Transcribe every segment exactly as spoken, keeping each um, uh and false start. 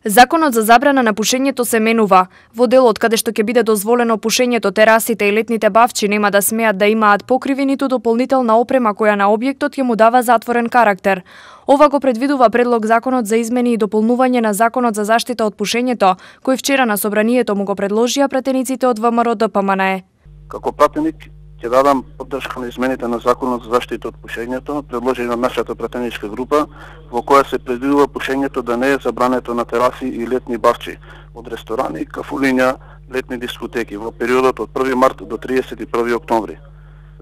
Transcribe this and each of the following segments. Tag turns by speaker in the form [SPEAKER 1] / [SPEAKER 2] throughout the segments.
[SPEAKER 1] Законот за забрана на пушењето се менува. Во делот каде што ќе биде дозволено пушењето, терасите и летните бавчи нема да смеат да имаат покриви ниту дополнителна опрема која на објектот ќе му дава затворен карактер. Ова го предвидува предлог законот за измени и дополнување на законот за заштита од пушењето, кој вчера на собранието му го предложија пратениците од ВМРО Д П М Н Е.
[SPEAKER 2] Како пратеник ќе дадам поддршка на измените на законот за заштита од пушењето, предложени од нашата пратеничка група, во која се предвидува пушењето да не е забрането на тераси и летни бавчи, од ресторани, кафулиња, летни дискотеки во периодот од први март до триесет и први октомври.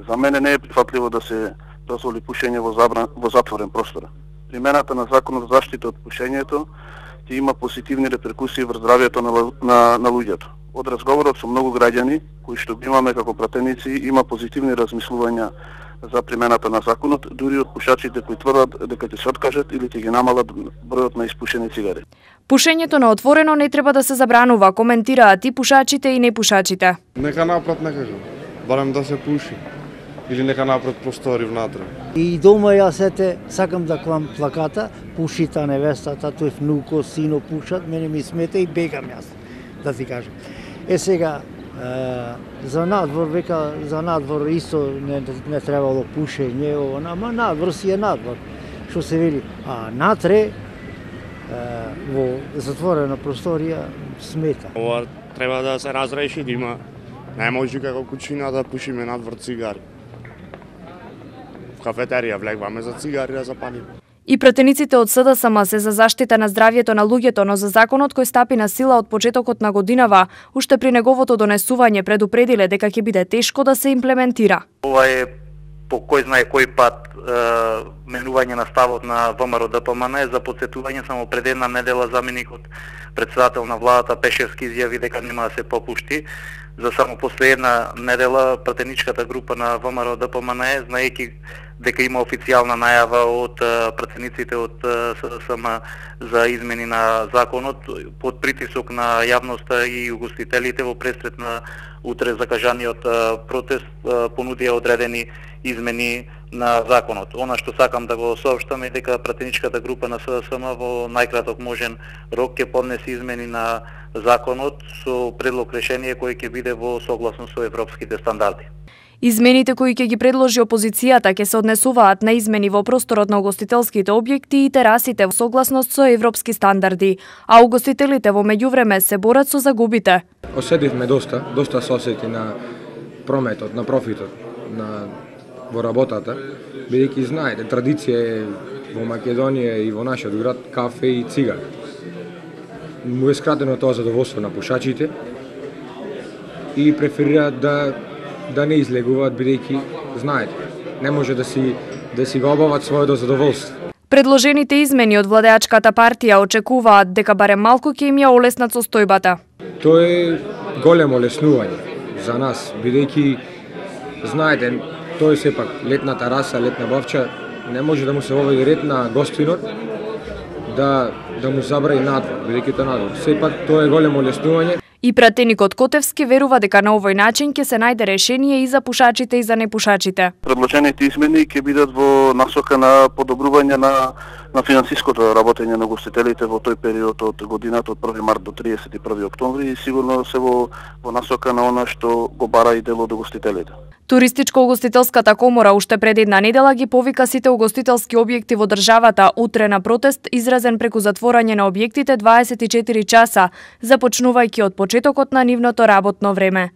[SPEAKER 2] За мене не е прифатливо да се дозволи пушење во, забран, во затворен простор. Примената на законот за заштита од пушењето ќе има позитивни реперкусии врз здравјето на, на, на луѓето. Од разговорот со многу граѓани, кои што ги имаме како пратеници, има позитивни размислувања за примената на законот, дури од пушачите кои тврдат дека ќе се откажат или ќе ги намалат бројот на испушени цигари.
[SPEAKER 1] Пушењето на отворено не треба да се забранува, коментираат и пушачите и непушачите.
[SPEAKER 3] Нека направат некако, барем да се пуши. Или нека направат простори внатре.
[SPEAKER 4] И дома јас ете сакам да клам плаката, пушита невестата, тој внуко, сино пушат, мене ми смета и бегам јас, да ти кажам. Е сега, е, за надвор, века, за надвор исто не, не требало пушење, ама надвор си е надвор, што се вели. А натре, е, во затворена просторија, смета.
[SPEAKER 3] Ова треба да се разреши, да има, не може како кучина да пушиме надвор цигари. В кафетерија влегваме за цигари да запалиме.
[SPEAKER 1] И пратениците од С Д С М се за заштита на здравјето на луѓето, но за законот кој стапи на сила од почетокот на годинава, уште при неговото донесување предупредиле дека ќе биде тешко да се имплементира.
[SPEAKER 5] Ова е по кој знае кој пат е, менување на ставот на В М Р Д П М Н Е. За потсетување, само пред една недела заменикот председател на владата Пешевски изјави дека нема да се попушти. За само после една недела пратеничката група на В М Р Д П М Н Е, знаејќи дека има официјална најава од пратениците од С Д С М за измени на законот, под притисок на јавноста и угостителите во пресрет на утре закажаниот протест, понудија одредени измени на законот. Она што сакам да го соопштам е дека пратеничката група на С Д С М во најкраток можен рок ќе поднесе измени на законот со предлог решение кој ќе биде во согласно со европските стандарди.
[SPEAKER 1] Измените кои ќе ги предложи опозицијата ќе се однесуваат на измени во просторот на угостителските објекти и терасите во согласност со европски стандарди, а угостителите во меѓувреме се борат со загубите.
[SPEAKER 6] Осетивме доста, доста се осети на прометот, на профитот, на во работата, бидејќи знаете, традиција е во Македонија и во нашиот град кафе и цигари. Му е скратено тоа задоволство на пушачите и преферираат да да не излегуваат, бидејќи знаете, не може да си да си го обават своето задоволство.
[SPEAKER 1] Предложените измени од владеачката партија очекуваат дека барем малку ќе им ја олеснат состојбата.
[SPEAKER 6] Тоа е големо олеснување за нас, бидејќи знаете, тоа е сепак летна тераса, летна бавча, не може да му се воведе ред на гостинот да да му забрави надвор, бидејќи тоа надвор. Сепак тоа е големо олеснување.
[SPEAKER 1] И пратеникот Котевски верува дека на овој начин ќе се најде решение и за пушачите и за непушачите.
[SPEAKER 2] Предложените измени ќе бидат во насока на подобрување на на финансиското работење на гостителите во тој период од годината од први март до триесет и први октомври и сигурно се во во насока на она што го бара и дел од гостителите.
[SPEAKER 1] Туристичко-угостителската комора уште пред една недела ги повика сите угостителски објекти во државата утре на протест изразен преку затворање на објектите дваесет и четири часа, започнувајќи од почетокот на нивното работно време.